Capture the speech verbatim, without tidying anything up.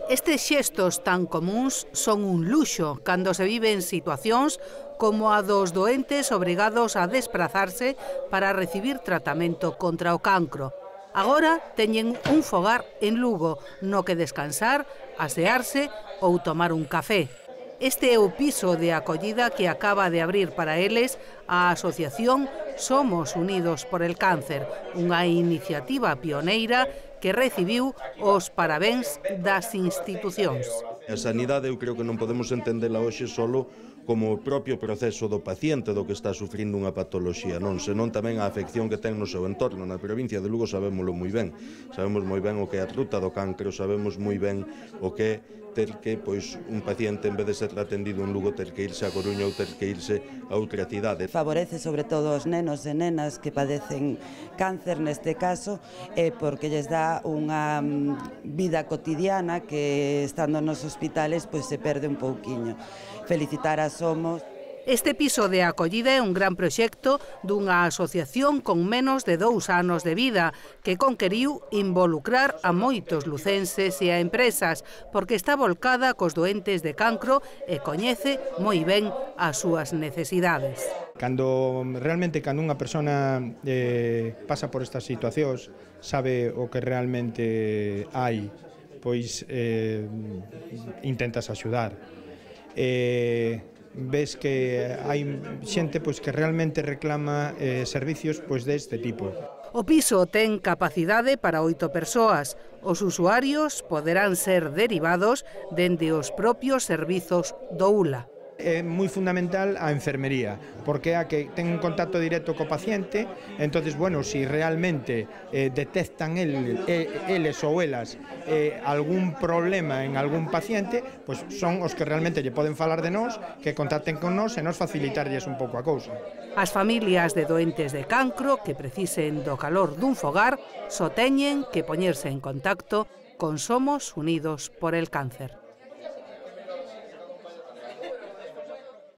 Estes xestos tan comúns son un luxo cando se vive en situacións como a dos doentes obrigados a desprazarse para recibir tratamento contra o cancro. Agora teñen un fogar en Lugo no que descansar, asearse ou tomar un café. Este é o piso de acollida que acaba de abrir para eles a asociación Somos Unidos por el Cáncer, unha iniciativa pioneira que recibiu os parabéns das institucións. A sanidade eu creo que non podemos entendela hoxe solo como o propio proceso do paciente do que está sufrindo unha patoloxía, non, senón tamén a afección que ten no seu entorno. Na provincia de Lugo sabémolo moi ben, sabemos moi ben o que é a ruta do cancro, sabemos moi ben o que é ter que, pois, un paciente, en vez de ser atendido en Lugo, ter que irse a Coruña ou ter que irse a outra cidade. Favorece sobre todo os nenos e nenas que padecen cáncer neste caso, eh, porque lles dá unha vida cotidiana que, estando nos hospitales, pois se perde un pouquiño. Felicitar a Somos. Este piso de acollida é un gran proxecto dunha asociación con menos de dous anos de vida que conqueriu involucrar a moitos lucenses e a empresas porque está volcada cos doentes de cancro e coñece moi ben as súas necesidades. Cando realmente cando unha persona eh, pasa por estas situacións, sabe o que realmente hai, pois eh, intentas axudar. Eh, ves que hai xente pois que realmente reclama eh, servicios pois deste tipo. O piso ten capacidade para oito persoas. Os usuarios poderán ser derivados dende os propios servizos do U L A. É moi fundamental a enfermería, porque é a que ten un contacto directo co paciente, entonces, bueno, si realmente eh, detectan el, eh, eles ou elas eh, algún problema en algún paciente, pues son os que realmente lle poden falar de nós, que contacten con nós e nos facilitarlles un pouco a cousa. As familias de doentes de cancro que precisen do calor dun fogar só teñen que poñerse en contacto con Somos Unidos por el Cáncer.